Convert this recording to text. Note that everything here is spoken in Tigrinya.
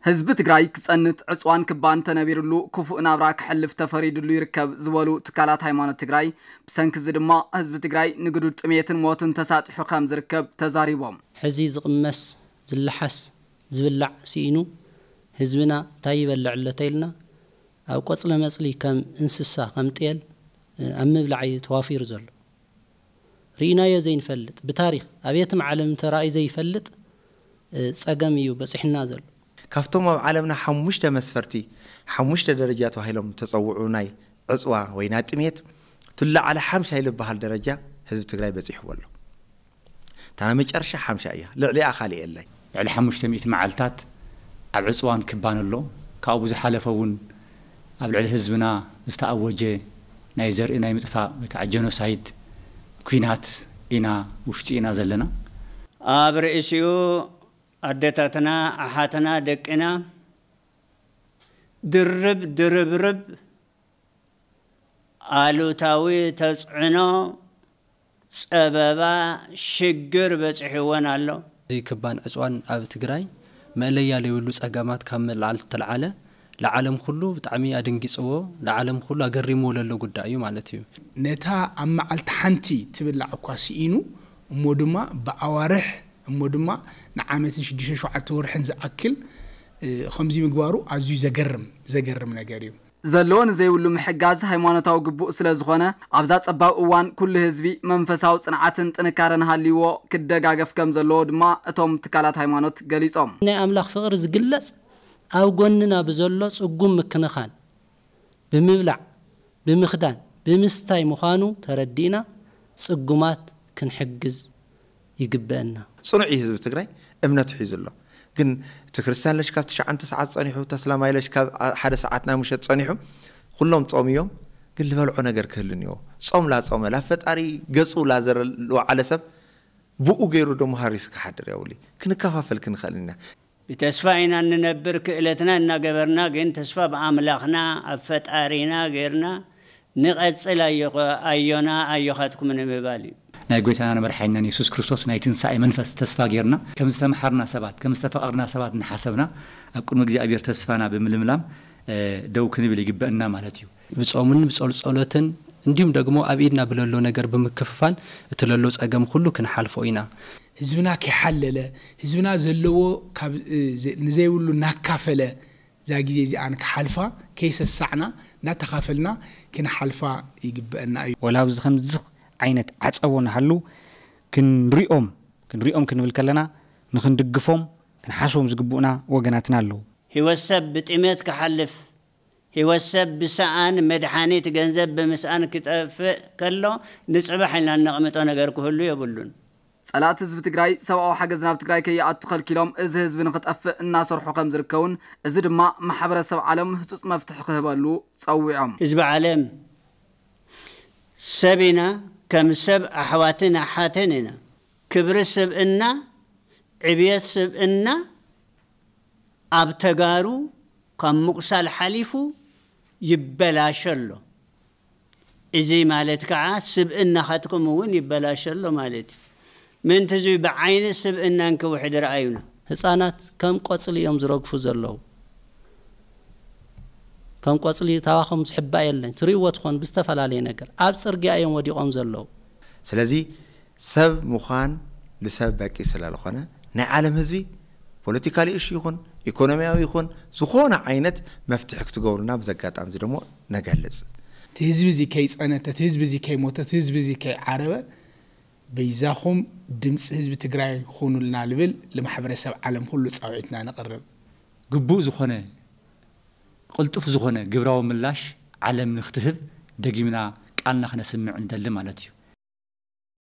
ህዝቢ ትግራይ ክጸንት ዕፅዋን ክባን ተነቢርሉ ክፉእ ናብራ ክሕልፍ ተፈሪድሉ ይርከብ ዝበሉ ትካላት ሃይማኖት ትግራይ፣ ብሰንኪ እዚ ድማ ህዝቢ ትግራይ ንግዱድ ጥሜትን ሞትን ተሳጢሑ ከም ዝርከብ ተዛሪቦም። ሕዚ ዝቕመስ ዝለሓስ ዝብላዕ ስኢኑ ህዝብና እንታይ ይበልዕ ኣሎ ተይልና ኣብ ቆፅሊ መፅሊ ከም እንስሳ ከም ጤል ኣብ ምብላዕ እዩ ተዋፊሩ ዘሎ። ርኢናዮ ዘይንፈልጥ ብታሪክ ኣብ የትም ዓለም ተራእዩ ዘይፈልጥ ፀገም እዩ በፂሕና ዘሎ። ካብቶም ኣብ ዓለምና ሓሙሽተ መስፈርቲ ሓሙሽተ ደረጃ ተባሂሎም ተፀውዑ ናይ ዕፅዋ ወይ ናይ ጥሜት ትላዓለ ሓምሻይ ዝበሃል ደረጃ ህዝቢ ትግራይ በፂሕዎ ኣሎ። እታ ናይ መጨረሻ ሓምሻ እያ። ልዕሊኣ ካሊእ የለን። ልዕሊ ሓሙሽተ ሚእቲ መዓልታት ኣብ ዕፅዋን ክባን ኣሎ። ካብኡ ብዝሓለፈ እውን ኣብ ልዕሊ ህዝብና ዝተኣወጀ ናይ ዘርኢ ናይ ምጥፋእ ወይ ከዓ ጀኖሳይድ ኲናት ኢና ውሽጢ ኢና ዘለና። ኣብ ርእሲኡ ኣደታትና ኣሓትና ደቅና ድርብ ድርብርብ ኣሉታዊ ተፅዕኖ ፀበባ ሽግር በፂሕወን ኣሎ። እዚ ክባን ዕፅዋን ኣብ ትግራይ መእለያ ዘይብሉ ፀገማት ካብ ምልዓል ተልዓለ ንዓለም ኩሉ ብጣዕሚ ኣደንጊፅዎ ንዓለም ኩሉ ኣገሪምዎ ለሎ ጉዳይ እዩ ማለት እዩ። ነታ ኣብ መዓልቲ ሓንቲ ትብላዕ እኳ ስኢኑ እሞ ድማ ብኣዋርሕ እሞ ድማ ንዓመትን ሽዱሽተ ሸውዓተ ወርሕን ዝኣክል ከምዚ ምግባሩ ኣዝዩ ዘገርም ዘገርም ነገር እዩ። ዘለዎ ንዘይብሉ ምሕጋዝ ሃይማኖታዊ ግቡእ ስለ ዝኾነ ኣብዛ ጸባብ እዋን ኩሉ ህዝቢ መንፈሳዊ ጽንዓትን ጥንካረን ሃልይዎ ክደጋገፍ ከም ዘለዎ ድማ እቶም ትካላት ሃይማኖት ገሊጾም። ናይ ኣምላኽ ፍቕሪ ዝግለጽ ኣብ ጎንና ብዘሎ ጽጉም ምክንኻን ብምብላዕ ብምኽዳን ብምስታይ ምዃኑ ተረዲእና ጽጉማት ክንሕግዝ ይግበአና። ፅኑዕ እዩ ህዝቢ ትግራይ እምነቱ ሒዙ ኣሎ። ግን እቲ ክርስቲያን ለሽ ካብ ትሽዓተ ሰዓት ፀኒሑ ተስላማይ ለሽ ካብ ሓደ ሰዓት ናይ ምሸት ፀኒሑ ኩሎም ጾም እዮም። ግን ዝበልዖ ነገር ክህሉ እኒዎ። ጾም ላጾመ ላብ ፈጣሪ ገፁ ላዘረልወዓለ ሰብ ብኡ ገይሩ ደሞ ሃሪሱ ክሓድር የብሉ። ክንከፋፈል ክንኽእል ኢና። ብተስፋ ኢና እንነብር ክእለትና እናገበርና ግን ተስፋ ብኣምላኽና ኣብ ፈጣሪና ገይርና ንቐጽል ኣዮና ኣዮኻትኩም ንምባል እዩ። ናይ ጎይታናን መድሓኒናን የሱስ ክርስቶስ ናይ ትንሳኤ መንፈስ ተስፋ ጌርና ከም ዝተመሓርና ሰባት ከም ዝተፈቐርና ሰባት እናሓሰብና ኣብ ቅድሚ እግዚኣብሔር ተስፋና ብምልምላም ደው ክንብል ይግበአና ማለት እዩ። ብጾምን ብጾልጸሎትን እንዲሁም ደግሞ ኣብ ኢድና ብለሎ ነገር ብምክፍፋል እቲ ለሎ ጸገም ኩሉ ክንሓልፎ ኢና። ህዝብና ከይሓለለ ህዝብና ዘለዎ ንዘይብሉ እናካፈለ እዛ ግዜ እዚኣ ንክሓልፋ ከይሰሳዕና እናተኻፈልና ክንሓልፋ ይግበአና እዩ። ወላ ኣብዚ ከምዚ ዓይነት ዓጸቦ ንሃሉ ክንሪኦም ክንሪኦም ክንብል ከለና ንክንድግፎም ክንሓስቦም ዝግብኡና ወገናትና ኣለዉ። ህይወት ሰብ ብጥሜት ክሓልፍ ህይወት ሰብ ብሰኣን መድሓኒት ገንዘብ ብምስኣን ክጠፍእ ከሎ ንፅባሕ ኢልና እነቕምጦ ነገር ክህሉ የብሉን። ጸላእቲ ህዝቢ ትግራይ ሰብኣዊ ሓገዝ ናብ ትግራይ ከይኣቱ ከልኪሎም እዚ ህዝቢ ንኽጠፍእ እናሰርሑ ከም ዝርከቡን እዚ ድማ ማሕበረሰብ ዓለም ህፁፅ መፍትሒ ክህበሉ ፀዊዖም። ህዝቢ ዓለም ሰብ ኢና፣ ከም ሰብ ኣሕዋትን ኣሓትን ኢና። ክብሪ ስብእና፣ ዕብየት ስብእና ኣብ ተጋሩ ካብ ምቁሳል ሓሊፉ ይበላሸ ኣሎ። እዚ ማለት ከዓ ስብእናኻትኩም እውን ይበላሸ ኣሎ ማለት እዩ። ምእንቲ እዚ ብዓይኒ ስብእና እንክውሕድ ረኣዩና። ህፃናት ከም ቆፅሊ እዮም ዝረግፉ ዘለዉ። ከም ቆፅሊ ታባኾም ዝሕባእ የለን። ትሪእዎ ትኾን ብዝተፈላለየ ነገር ኣብ ፅርግያ እዮም ወዲቖም ዘለዉ። ስለዚ ሰብ ምዃን ንሰብ በቂ ስለዝኾነ ናይ ዓለም ህዝቢ ፖለቲካሊ እሹ ይኹን ኢኮኖሚያዊ ይኹን ዝኾነ ዓይነት መፍትሒ ክትገብሩና ብዘጋጣሚ እዚ ደሞ ነገልጽ። እቲ ህዝቢ እዚ ከይጸነተ፣ እቲ ህዝቢ እዚ ከይሞተ፣ እቲ ህዝቢ እዚ ከይዓረበ በይዛኹም ድምፂ ህዝቢ ትግራይ ኹኑልና ልብል ልማሕበረሰብ ዓለም ኩሉ ፃውዒትና ነቕርብ። ግቡእ ዝኾነ ቅልጡፍ ዝኾነ ግብራዊ ምላሽ ዓለም ንክትህብ ደጊምና ቃልና ክነስምዕ ንደሊ ማለት እዩ።